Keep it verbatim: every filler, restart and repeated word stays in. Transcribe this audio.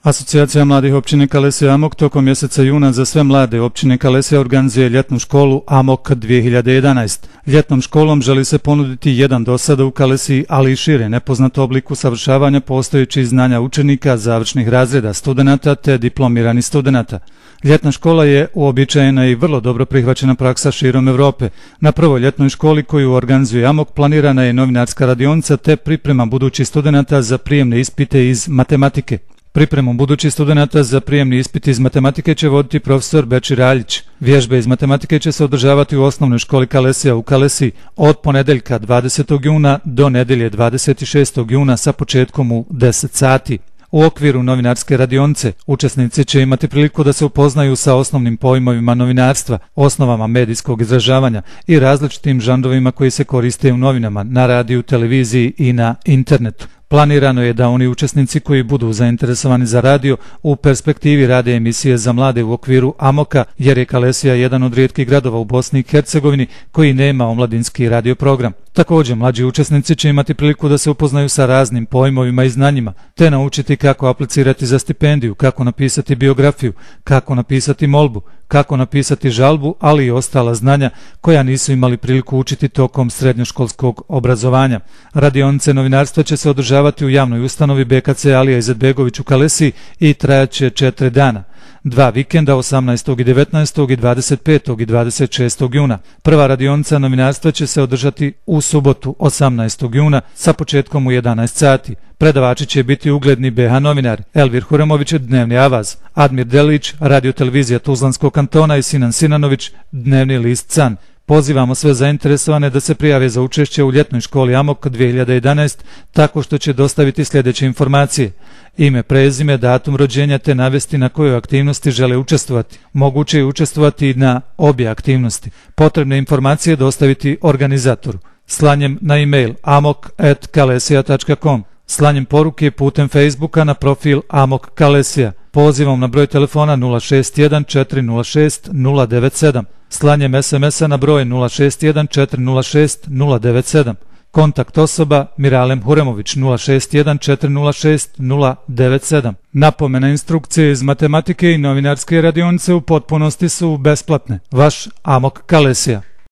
Asocijacija mladih općine Kalesija Amok tokom mjeseca juna za sve mlade općine Kalesija organizuje ljetnu školu Amok dvije hiljade jedanaest. Ljetnom školom želi se ponuditi jedan do sada u Kalesiji, ali i šire nepoznat oblik usavršavanja postojećih znanja učenika, završnih razreda studenata te diplomiranih studenata. Ljetna škola je uobičajena i vrlo dobro prihvaćena praksa širom Europe. Na prvoj ljetnoj školi koju organizuje Amok planirana je novinarska radionica te priprema budućih studenata za prijemne ispite iz matematike. Pripremu budućih studenata za prijemni ispit iz matematike će voditi profesor Bečir Aljić. Vježbe iz matematike će se održavati u osnovnoj školi Kalesija u Kalesiji od ponedeljka dvadesetog juna do nedjelje dvadeset šestog juna sa početkom u deset sati. U okviru novinarske radionice učesnici će imati priliku da se upoznaju sa osnovnim pojmovima novinarstva, osnovama medijskog izražavanja i različitim žanrovima koji se koriste u novinama, na radiju, televiziji i na internetu. Planirano je da oni učesnici koji budu zainteresovani za radio u perspektivi rade emisije za mlade u okviru Amoka, jer je Kalesija jedan od rijetkih gradova u Bosni i Hercegovini koji nema omladinski radio program. Također, mlađi učesnici će imati priliku da se upoznaju sa raznim pojmovima i znanjima, te naučiti kako aplicirati za stipendiju, kako napisati biografiju, kako napisati molbu, kako napisati žalbu, ali i ostala znanja koja nisu imali priliku učiti tokom srednjoškolskog obrazovanja. Radionice novinarstva će se održavati u javnoj ustanovi B K C Alija Izetbegović u Kalesiji i trajaće četiri dana. Dva vikenda, osamnaestog i devetnaestog i dvadeset petog i dvadeset šestog juna. Prva radionica novinarstva će se održati u subotu osamnaestog juna sa početkom u jedanaest sati. Predavači će biti ugledni B H novinari Elvir Huremović, Dnevni Avaz, Admir Delić, radiotelevizija Tuzlanskog kantona i Sinan Sinanović, Dnevni list Can. Pozivamo sve zainteresovane da se prijave za učešće u ljetnoj školi Amok dvije hiljade jedanaest tako što će dostaviti sljedeće informacije: ime, prezime, datum rođenja te navesti na kojoj aktivnosti žele učestvovati. Moguće je učestvovati i na obje aktivnosti. Potrebne informacije dostaviti organizatoru slanjem na e-mail amok at kalesija tačka com, slanjem poruke putem Facebooka na profil Amok Kalesija, pozivom na broj telefona nula šest jedan četiri nula šest nula devet sedam, slanjem es em esa na broj nula šest jedan četiri nula šest nula devet sedam. Kontakt osoba Miralem Huremović nula šest jedan četiri nula šest nula devet sedam. Napomena: instrukcije iz matematike i novinarske radionice u potpunosti su besplatne. Vaš Amok Kalesija.